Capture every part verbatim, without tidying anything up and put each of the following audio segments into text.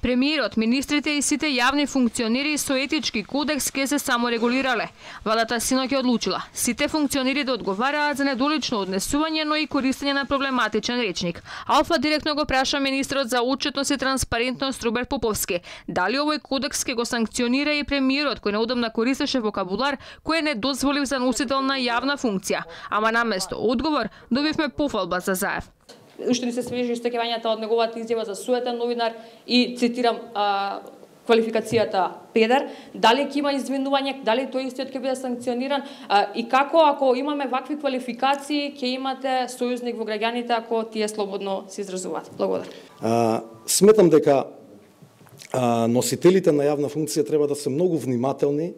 Премиерот, министрите и сите јавни функционери со етички кодекс ке се саморегулирале. Владата синоќ одлучила сите функционери да одговараат за недолично однесување, но и користење на проблематичен речник. Алфа директно го праша министрот за отчетност и транспарентност Роберт Поповски дали овој кодекс ке го санкционира и премиерот кој неудобно користеше вокабулар кој не дозволив за носител на јавна функција. Ама наместо одговор добивме пофалба за Заев. Уште ни се свежи истекувањата од неговата изјава за суетен новинар и цитирам а, квалификацијата педер, дали ќе има извинување, дали тој истиот ќе биде санкциониран а, и како ако имаме вакви квалификации ќе имате сојузник во граѓаните ако тие слободно се изразуваат. Благодарам. А, сметам дека а, носителите на јавна функција треба да се многу внимателни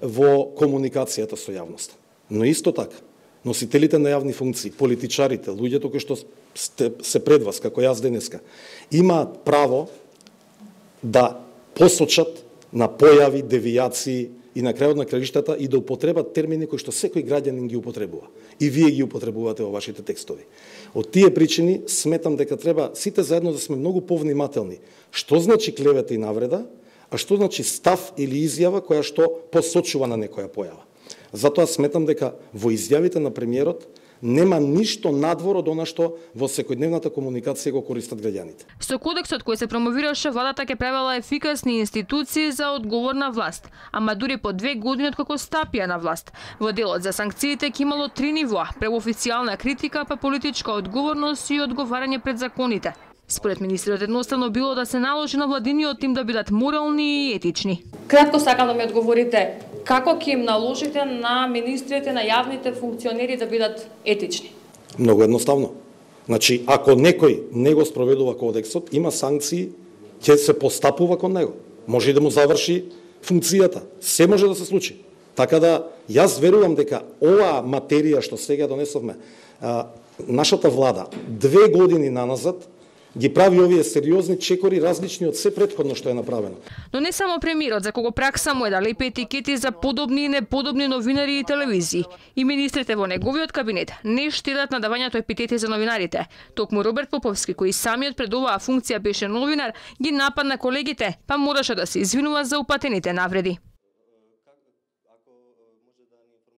во комуникацијата со јавноста. Но исто така, носителите на јавни функции, политичарите, луѓето кои што сте, се пред вас, како јас денеска, имаат право да посочат на појави, девијации и на крајот на краиштата и да употребат термини кои што секој граѓанин ги употребува. И вие ги употребувате во вашите текстови. Од тие причини сметам дека треба сите заедно да сме многу повнимателни. Што значи клевета и навреда, а што значи став или изјава која што посочува на некоја појава. Затоа сметам дека во изјавите на премиерот нема ништо надвор од она што во секојдневната комуникација го користат граѓаните. Со кодексот кој се промовираше, владата ќе правела ефикасни институции за одговорна власт, ама дури по две години откако стапија на власт. Во делот за санкциите ќе имало три нивоа: прво официјална критика, па политичка одговорност и одговарање пред законите. Според министрот едноставно било да се наложи на владиниот тим да бидат морални и етични. Кратко сакам да ми одговорите како ќе им наложите на министрите, на јавните функционери да бидат етични? Многу едноставно. Значи, ако некој не го спроведува кодексот, има санкции, ќе се постапува кон него. Може и да му заврши функцијата. Се може да се случи. Така да, јас верувам дека оваа материја што сега донесовме, а, нашата влада две години наназад ги прави овие сериозни чекори различни од се претходно што е направено. Но не само премиерот, за кого пракса му е да лепи етикети за подобни и неподобни новинари и телевизии. И министрите во неговиот кабинет не штедат на давањето епитети за новинарите. Токму Роберт Поповски, кој самиот пред оваа функција беше новинар, ги нападна колегите, па мораше да се извинува за упатените навреди.